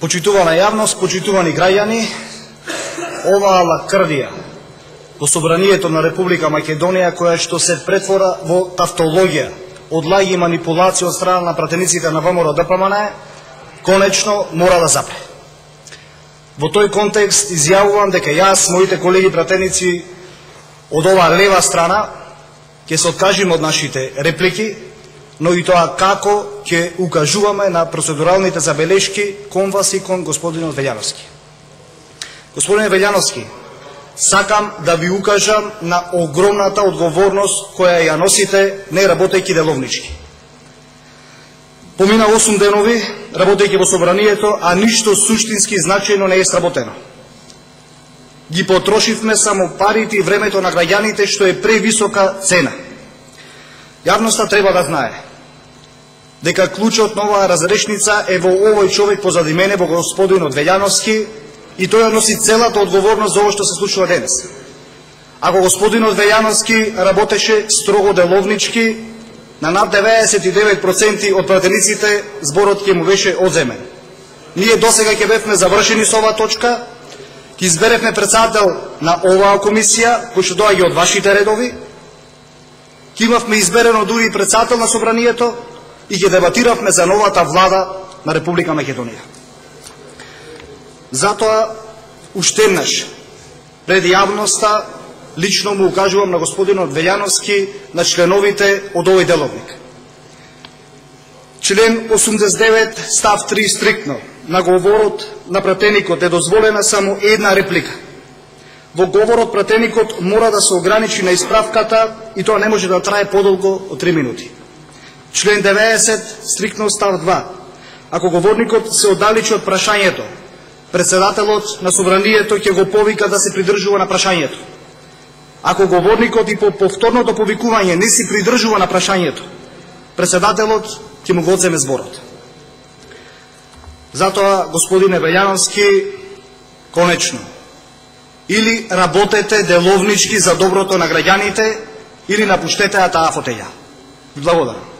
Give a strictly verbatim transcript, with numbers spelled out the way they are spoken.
Почитувана јавност, почитувани граѓани, оваа лакрдија во Собранието на Република Македонија, која што се претвора во тавтологија од лаги и манипулација од страна на пратениците на ВМРО Д П М Н, конечно мора да запре. Во тој контекст изјавувам дека јас, моите колеги пратеници од оваа лева страна, ќе се откажиме од нашите реплики, но и тоа како ќе укажуваме на процедуралните забелешки кон вас и кон господинот Велјановски. Господине Велјановски, сакам да ви укажам на огромната одговорност која ја носите не работејќи деловнички. Помина осум денови работејќи во Собранието, а ништо суштински значајно не е сработено. Ги потрошивме само парите и времето на граѓаните, што е превисока цена. Јавноста треба да знае дека клучот на оваа разрешница е во овој човек позади мене, во господинот Велјановски, и тој носи целата одговорност за ово што се случува денес. Ако господинот Велјановски работеше строго деловнички, на над деветдесет и девет проценти од пратениците зборот ќе му беше одземен. Ние досега ќе бевме завршени со оваа точка, ќе изберевме председател на оваа комисија, кој што доаѓа од вашите редови, ќе имавме изберено дури и председател на Собранието и ќе дебатиравме за новата влада на Република Македонија. Затоа, уште еднаш, пред јавноста, лично му укажувам на господинот Велјановски, на членовите од овој деловник. Член осумдесет и девет став три стриктно на говорот на пратеникот е дозволена само една реплика. Во говорот пратеникот мора да се ограничи на исправката и тоа не може да трае подолго од три минути. Член деветдесет стриктно став два. Ако говорникот се оддалечи од прашањето, председателот на Собранието ќе го повика да се придржува на прашањето. Ако говорникот и по повторното повикување не се придржува на прашањето, председателот ќе му го одземе зборот. Затоа, господине Велјановски, конечно, или работете деловнички за доброто на граѓаните, или напуштете таа фотеја. Благодарам.